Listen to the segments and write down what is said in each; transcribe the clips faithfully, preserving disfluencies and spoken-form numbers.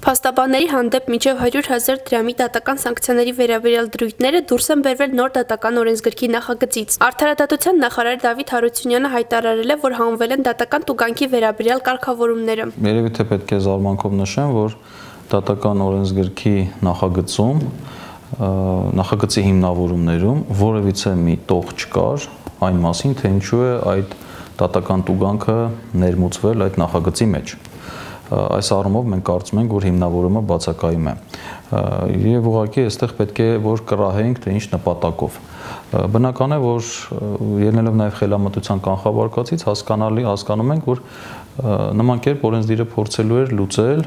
Փաստաբանների հանդեպ մինչև հարյուր հազար դրամի դատական սանկցիաների վերաբերյալ դրույթները դուրս են բերվել նոր դատական օրենսգրքի նախագծից։ Արդարադատության նախարար Դավիթ Հարությունյանը հայտարարել է, որ հանվել են դատական տուգանքի վերաբերյալ կարգավորումները։ Երևի թե պետք է զարմանքով նշեմ, որ դատական օրենսգրքի նախագծում, նախագծի հիմնավորումներում որևիցե մի տող չկար այն մասին, թե ինչու է այդ դատական տուգանքը ներմուծվել այդ նախագծի մեջ։ Այս առումով մենք կարծում ենք, որ հիմնավորումը բացակայում է եւ ուղղակի այստեղ պետք է որ կռահենք, թե ինչ նպատակով։ Բնական է, որ ելնելով նաեւ խելամտության կանխավարկածից հասկանալի հասկանում ենք, որ նման կերպ օրենսդիրը փորձելու էր լուծել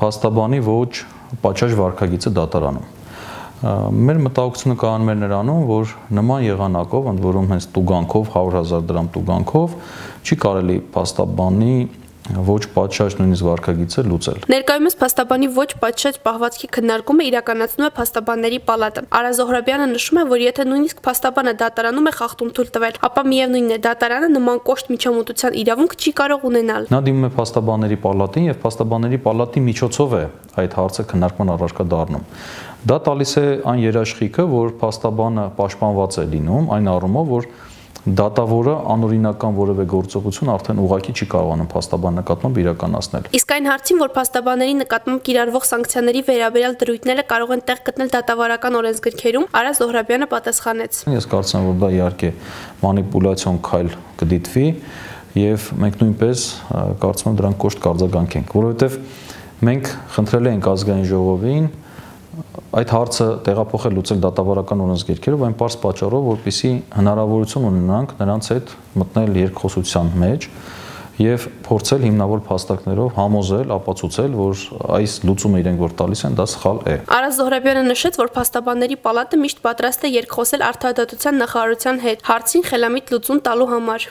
փաստաբանի ոչ պատշաճ վարքագիծը դատարանում։ Մեր մտահոգությունը կայանում էր նրանում, որ նման եղանակով, ընդ որում հենց տուգանքով, հարյուր հազար դրամ տուգանքով չի կարելի փաստաբանի ոչ պատշաճ նույնիսկ վարքագիծը լուծել։ Ներկայումս փաստաբանի ոչ պատշաճ պահվածքի քննարկումը իրականացնում է Փաստաբանների պալատը։ Արա Զոհրաբյանը նշում է, որ եթե նույնիսկ փաստաբանը դատարանում է խախտում թույլ տվել, ապա միևնույնն է դատարանը նման կոշտ միջամտության իրավունք չի կարող ունենալ։ Նա դիմում է Փաստաբանների պալատին եւ Փաստաբանների պալատի միջոցով է այդ հարցը քննարկման առարկա դառնում։ Դա տալիս է այն երաշխիքը, որ փաստաբանը պաշտպանված է լինում այն առումով, որ դատավորը անօրինական որևէ գործողություն արդեն ուղղակի չի կարողանում փաստաբանի նկատմամբ իրականացնել։ Իսկ այն հարցին, որ փաստաբանների նկատմամբ կիրառվող սանկցիաների վերաբերյալ դրույթները կարող են տեղ գտնել դատավարական օրենսգրքերում, Արա Զոհրաբյանը պատասխանեց։ Ես կարծում եմ, որ դա իհարկե մանիպուլյացիոն քայլ կդիտվի եւ մենք նույնպես կարծում եմ դրան կոշտ կարձագանքենք, որովհետեւ մենք խնդրել ենք ազգային ժողովին այդ հարցը տեղափոխել լուծել դատավարական օրենսգիրքերով այն պարզ պատճառով, որպեսզի հնարավորություն ունենանք նրանց հետ մտնել երկխոսության մեջ եւ փորձել հիմնավոր փաստարկներով համոզել, ապացուցել, որ այս լուծումը իրենք որ տալիս են, դա սխալ է։ Արա Զոհրաբյանը նշեց, որ Փաստաբանների պալատը միշտ պատրաստ է երկխոսել արդարադատության նախարարության հետ հարցին խելամիտ լուծում տալու համար։